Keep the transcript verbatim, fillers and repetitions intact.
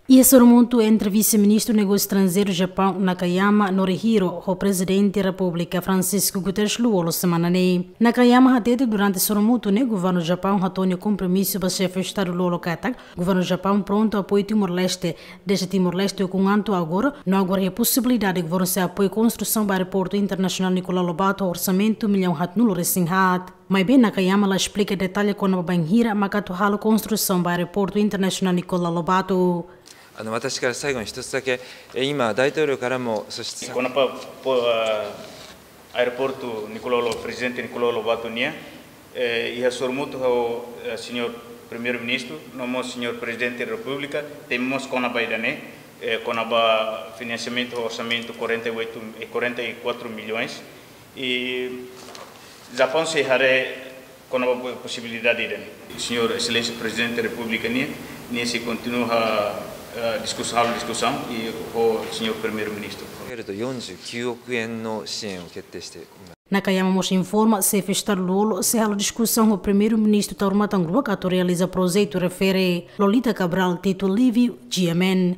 Iha sorumutu entre Vise-Ministru Negósiu Estranjeiru Japaun, Nakayama Norihiro, ho Prezidente Repúblika, Francisco Guterres Lú-Olo, semana ne'e. Nakayama hatete durante sorumutu ne'e, Governu Japaun hato'o nia kompromisu ba Xefe Estadu Lú-Olo katak Governu Japaun prontu apoiu Timor-Leste, dezde Timor-Leste ukun an to'o agora, no agora iha posibilidade Governu sei apoiu konstrusaun ba Aeroportu Internasionál Nicolau Lobato ho orsamentu millaun haat-nulu resin haat. Maibé Nakayama la esplika detalle kona-ba bainhira maka atu halo konstrusaun ba Aeroportu Internasionál Nicolau Lobato. あの、私から最後に一つだけ、え、今、大統領からも、そして、 Kona-ba, po, ah, Aeroportu Nicolau Lo-, Prezidente Nicolau Lobato nian, eh, iha sorumutu ho, eh, Señór Primeiru-Ministru, no mós Señór Prezidente Repúblika, temi mós kona-ba ida-ne'e, eh, kona-ba finansiamentu, orsamentu quarenta e oito, eh, quarenta e quatro milhões. I Japaun sei haree kona-ba posibilidade ida-ne'e. Señór Exelénsia Prezidente Repúblika nian, nia sei kontinua, eh, diskusaun, halo diskusaun i ho Señór Primeiru-Ministru. けれど、よんじゅうきゅうおくえんの支援を決定しています。 Nakayama mós informa, Xefe Estadu Lú-Olo sei halo diskusaun ho Primeiru-Ministru Taur Matan Ruak atu realiza projetu refere. Lolita Cabral, Tito Livio, G M N.